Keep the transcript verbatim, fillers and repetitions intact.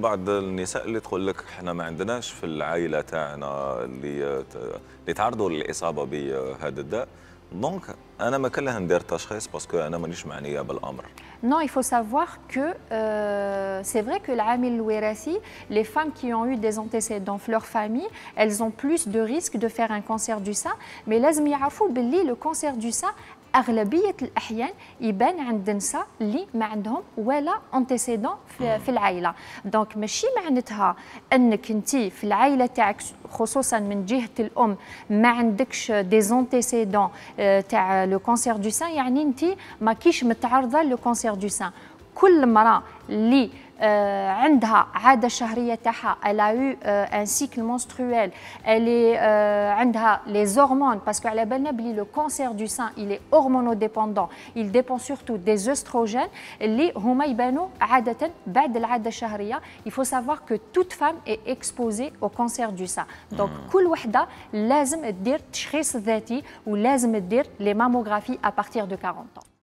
بعض النساء اللي تقول لك احنا ما عندناش في العائله تاعنا اللي اللي تعرضوا للاصابه بهذا الداء، دونك انا ما كان لها ندير تشخيص باسكو انا مانيش معنيه بالامر. Non, il faut savoir que euh, c'est vrai que العامل الوراثي, les femmes qui ont eu des antécédents في leur famille, elles ont plus de risques de faire un cancer du sein, mais لازم يعرفوا باللي le cancer du sein أغلبية الأحيان يبان عند النساء اللي ما عندهم ولا انتيسيدون في, في العائلة. دونك ماشي معناتها أنك أنت في العائلة تاعك خصوصا من جهة الأم ما عندكش دي زونتيسيدون تاع لو كونسير دو سان يعني أنت ما كيش متعرضة لو كونسير دو سان. كل امرأة اللي آه عندها عادة شهرية تاعها, elle a eu euh, un cycle menstruel, elle est euh, عندها les hormones parce que على بالنا بلي le cancer du sein il est hormonodépendant, il dépend surtout des œstrogènes اللي هما يبانوا عادة بعد العادة الشهرية. Il faut savoir que toute femme est exposée au cancer du sein. Donc كل وحدة لازم تدير تشخيص ذاتي ولازم تدير les mammographies à partir de quarante ans.